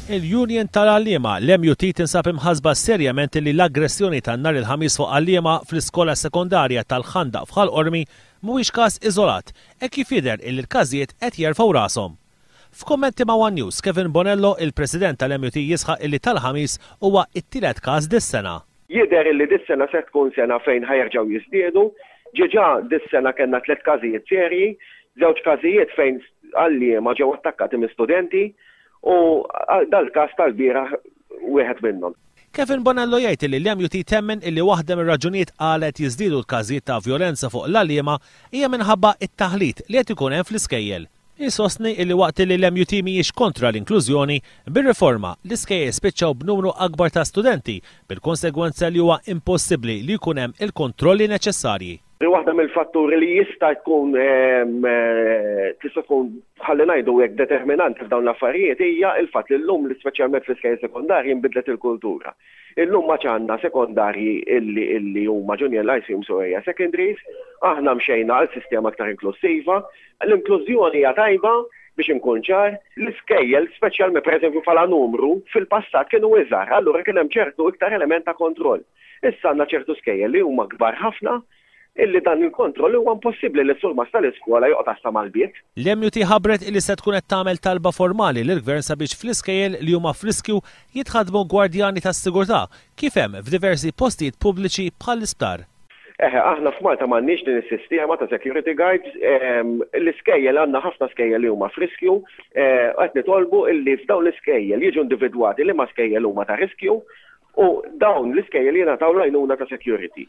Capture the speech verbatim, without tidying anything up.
Il-Union tal-Għalliema, l-M U T, tinsab imħasba serjament li l-aggressjoni ta' nhar il-Ħamis fuq għalliema fl-iskola sekondarja tal-Ħandaq f'Ħal Qormi mhuwiex każ iżolat e kif jidher illi l-każijiet qed jerfgħu rashom. F'kummenti ma' One News, Kevin Bonello, il-President tal-M U T, jisħaq illi tal-Ħamis huwa it-tielet każ dis-sena. Jidher illi dis-sena se tkun sena fejn ħa jerġgħu jiżdiedu. Diġà dis-sena kellna tliet każijiet serji, żewġ każijiet fejn għalliema ġew attakkati minn studenti u dal-każ tal-bieraħ wieħed minnhom. Kevin Bonello jgħid li l-M U T temmen illi waħda mir-raġunijiet għala qed jiżdiedu l-każijiet ta' vjolenza fuq l-għalliema hija minħabba it-taħlit li qed ikun hemm fl-iskejjel. Isostni illi waqt li l-M U T mhijiex kontra l-inklużjoni, bir-riforma l-iskejjel spiċċaw b'numru akbar ta' studenti, bil-konsegwenza li huwa impossibbli li jkun hemm il-kontrolli neċessarji. Waħda mill-fatturi li jista' jkun ehm, eh, tista' tkun, ħalli ngħidu hekk, determinanti f'dawn l-affarijiet hija il-fatt li llum li speċjalment fl-iskejjel sekondarji nbidlet il-kultura. Illum ma għandna sekondarji illi illi huma junior lyceums u hija secondaries, aħna mxejna għal sistema aktar inklusiva. L-inklużjoni hija tajba, biex inkun ċar, l-iskejjel, speċjalment pereżempju bħala numru, fil-passat kienu iżgħar, allura kien hemm ċertu iktar element ta' kontroll. Issa għandna ċertu skejjel li huma kbar ħafna illi dan il-kontroll huwa impossibbli li s-surmast tal-iskola joqgħod għassa mal-bieb. L-M U T ħabbret illi se tkun qed tagħmel talba formali lill-gvern sabiex fl-iskejjel li huma f'riskju jitħadmu gwardjani tas-sigurtà kif hemm f'diversi postijiet pubbliċi bħall-isptar. Eħe, aħna f'Malta m'għandniex din is-sistema ta' security guards, ehm, l-iskejjel, għandna ħafna skejjel li huma f'riskju, eh, qed nitolbu illi f'dawn l-iskejjel jiġu individwati li ma skejjel huma ta' riskju u dawn l-iskejjel jingħataw l-għajnuna ta' security.